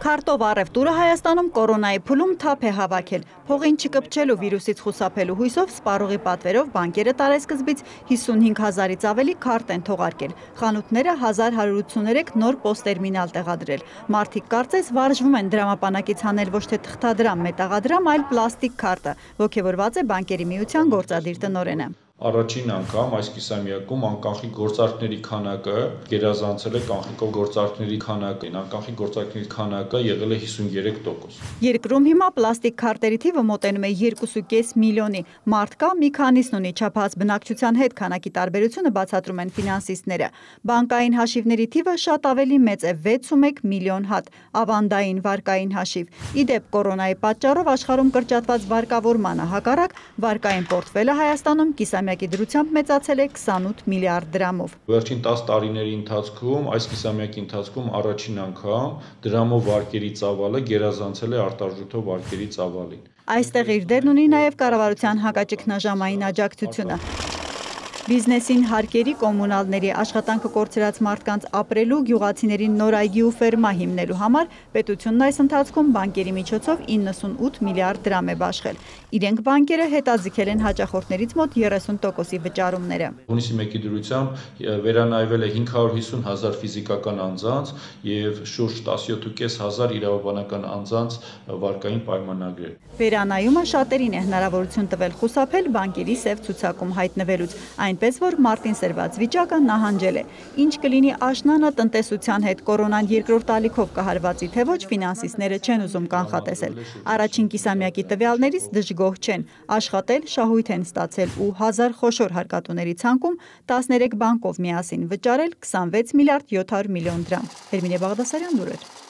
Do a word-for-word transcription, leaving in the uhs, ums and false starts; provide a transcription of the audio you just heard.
Քարտով առևտուրը Հայաստանում կորոնայի փուլում թափ է հավաքել։ Փողին չկպչելու վիրուսից խուսափելու հույսով սպառողի պատվերով բանկերը տարեսկզբից հիսունհինգ հազարից ավելի քարտ են թողարկել։ Խանութները հազար հարյուր ութսուներեք նոր պոստերմինալ տեղադրել։ Մարդիկ կարծես վարժվում են դրամապանակից հանել ոչ թե թղթադրամ, մետաղադրամ, այլ պլաստիկ քարտը, ոգևորված է բանկերի միության գործադիր տնօրենը։ Առաջին անգամ այս կիսամյակում անկանխիկ գործարքների քանակը գերազանցել է կանխիկով գործարքների քանակին, անկանխիկ գործարքների քանակը եղել է հիսունյոթ տոկոս։ Երկրում հիմա պլաստիկ քարտերի թիվը մոտենում է երկու կես միլիոնի, մարդկա մի քանիսն ունի, չափահաս բնակչության հետ քանակի տարբերությունը բացատրում են ֆինանսիստները։ Բանկային հաշիվների թիվը շատ ավելի մեծ է՝ վեցումեկ միլիոն հատ, ավանդային վարկային հաշիվ։ Իդեպ կորոնայի պատճառով աշխարհում կրճատված վարկավորմանը հակառակ վարկային պորտֆելը Հայաստանում կիսամյակի դրությամբ մեծացել է քսանութ միլիարդ դրամով։ Վերջին տասը տարիների ընթացքում այս կիսամյակի ընթացքում առաջին անգամ դրամով վարկերի ծավալը գերազանցել է արտարժութով վարկերի ծավալին։ Այստեղ իր դերն ունի նաև կառավարության հակաճգնաժամային աջակցությունը։ Բիզնեսին հարկերի, կոմունալների, աշխատանքը կորցրած մարդկանց ապրելու, գյուղացիներին նոր այգի ու ֆերմա հիմնելու համար պետությունն այս ընթացքում բանկերի միջոցով իննսունութ միլիարդ դրամ է բաշխել։ Իրենք բանկերը հետաձգել են հաճախորդներից մոտ երեսուն տոկոսի վճարումները։ Հունիսի մեկի դրությամբ վերանայվել է հինգ հարյուր հիսուն հազար ֆիզիկական անձանց և շուրջ տասնյոթ կես հազար իրավաբանական անձանց վարկային պայմանագրեր։ Վերանայումը շատերին է հնարավորություն տվել խուսափել բանկերի սև ցուցակում հայտնվելուց, այնպես որ մարտին սրված վիճակը նահանջել է։ Ինչ կլինի աշնանը տնտեսության հետ կորոնան երկրորդ ալիքով կհարվածի, թե ոչ, ֆինանսիստները չեն ուզում կանխատեսել։ Առաջին կիսամյակի տվյալներից դժգոհ չեն, աշխատել, շահույթ են ստացել ու հազար խոշոր հարկատուների ցանկում տասներեք բանկով միասին վճարել քսանվեց միլիարդ յոթ հարյուր միլիոն դրամ։ Հերմինե Բաղդասարյան, լուրեր։